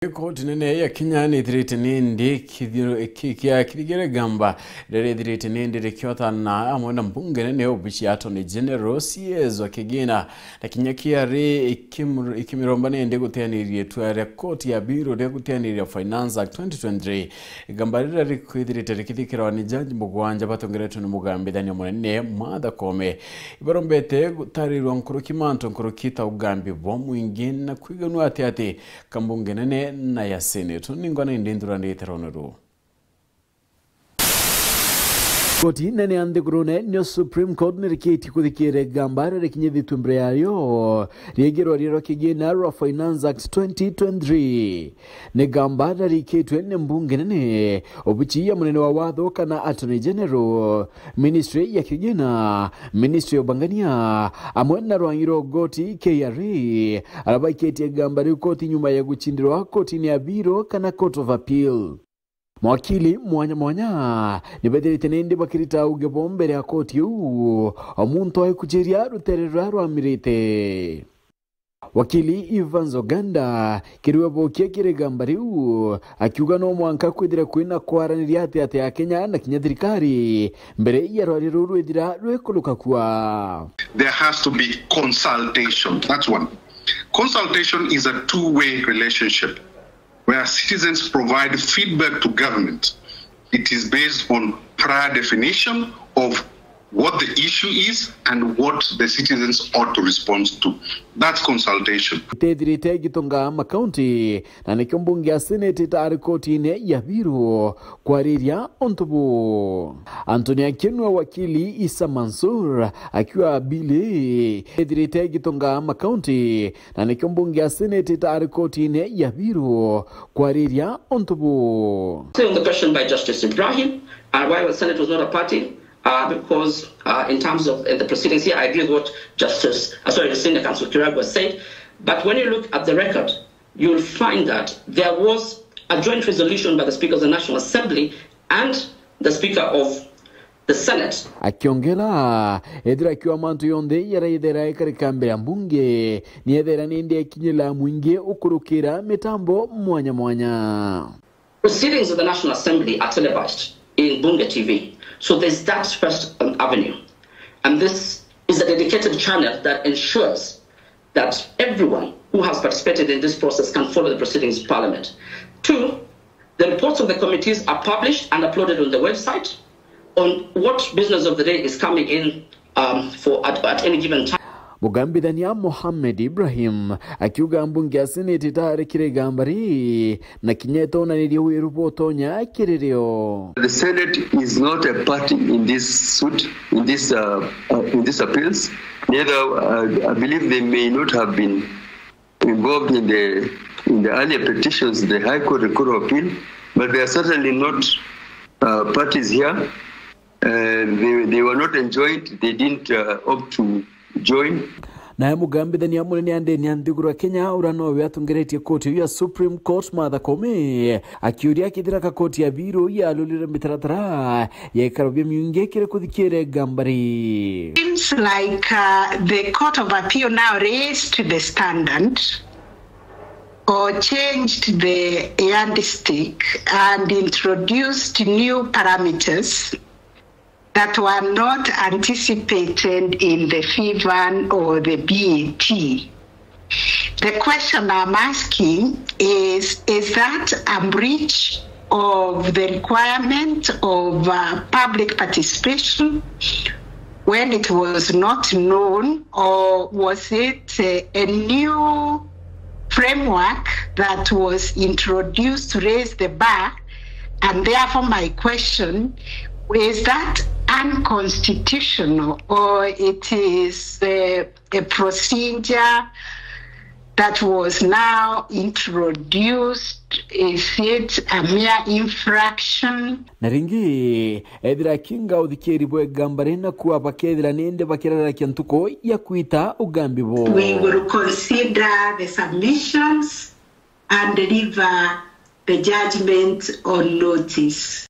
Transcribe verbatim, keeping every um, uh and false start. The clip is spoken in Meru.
Koti nene ya Kenya nithirite nindi kithiro-, ki-, kia kithigire gamba riria rithirite nindi rikiotana amwe na mbunge nene, obici ya Attorney General, C S wa Kigina, na kinya K R A ikimur-, ikimiromba nindi guteaniria itua ria koti ya biru ria guteaniria Finance Act twenty twenty-three. Igamba riria rikwithirite rikithikirwa ni jaji mugwanja batongeretwe ni mugambithania munene Martha Koome, ibarombete gutarirwa nkuruki mantu nkuruki ta ugambi bwa mwingi na kwiganua ati ati kambunge nene na ya Senate. Ningwa na indi nthura ndite rono ru. Koti nene ya nthigurune niyo Supreme Court nirikitie kuthikira igamba riria rikinyithitue mbere yayo riegie rwaria rwa kigina rwa Finance Act twenty twenty-three. Ni gamba rarikitwe ni mbunge nene, obici ya munene wa watho kana Attorney General, Ministry ya Kigina, Ministry ya Ubangania, amwe na rwangi rwa ugoti K R A, aria baikitie gamba riu koti nyuma ya gucindirwa kotini ya biru kana Court of Appeal. Mawakili mwanya mwanya nibethirite nindi bakirita uge bo mbere ya koti iu, o muntu aikujiria rutere ruria rwamirite. Wakili Evans Oganda kiriwe bokia kiri gamba riu, akiuga no mwanka kwithira kwina kwaraniria ati ati ya Kenya na kinya thirikari mbere ya rwaria ruru rwithira rwikuruka kua. There has to be consultation. That's one. Consultation is a two-way relationship where citizens provide feedback to government. It is based on prior definition of what the issue is and what the citizens ought to respond to. That's consultation. Itethirite igitonga makaunti, na nikio mbunge ya Senate itari kotini ya biru kwariria untu bu. Anthony Akinwa, wakili Isa Mansur akiuga bili ithirite igitonga makaunti, na nikio mbunge ya Senate itari kotini ya biru kwariria untu bu. Say on the question by Justice Ibrahim, uh, why the Senate was not a party, uh, because, uh, in terms of, uh, the proceedings here, I agree with what Justice, uh, sorry, Senior Counsel Kiragu has said. But when you look at the record, you'll find that there was a joint resolution by the Speaker of the National Assembly and the Speaker of the Senate. Akiongera, ethira akiuga mantu yonthe yaraithera ikarika mbere ya mbunge, ni ethera nindi ekinyira mwingi ukurukira mitambo mwanya mwanya. Proceedings of the National Assembly are televised in Bunge T V. So there's that first, um, avenue. And this is a dedicated channel that ensures that everyone who has participated in this process can follow the proceedings of Parliament. Two, the reports of the committees are published and uploaded on the website on what business of the day is coming in, um, for at, at any given time. Mugambithania Mohamed Ibrahim akiuga mbunge ya Senate itarekire igamba ri na kinya itonanirie wiru botonya kiri rio. The Senate is not a party in this suit, in this, uh, uh, in this appeals. Neither, uh, I believe they may not have been involved in the, in the earlier petitions, the High Court, the Court of Appeal, but they are certainly not, uh, parties here. Uh, they, they were not enjoined, they didn't, uh, opt to join. Naye mugambithania munene andene ya nthiguru ya Kenya, uria nowe atongeretie koti iu ya Supreme Court, Martha Koome, akiuria kethira ka koti ya biru yalulire mitaratara ya ikaro bia miungi kiri kuthikira igamba ri. Seems like, uh, the Court of Appeal now raised the standard or changed the yardstick and introduced new parameters that were not anticipated in the P VAN or the B A T. The question I'm asking is, is that a breach of the requirement of, uh, public participation when it was not known, or was it, uh, a new framework that was introduced to raise the bar? And therefore, my question, is that unconstitutional, or it is, uh, a procedure that was now introduced? Is it a mere infraction? Na ringi, ethira kinga uthikiri bwe igamba ri na kuwa bakethira nindi bakirarakia ntuku ya kwita ugambi bo. We will consider the submissions and deliver the judgment on notice.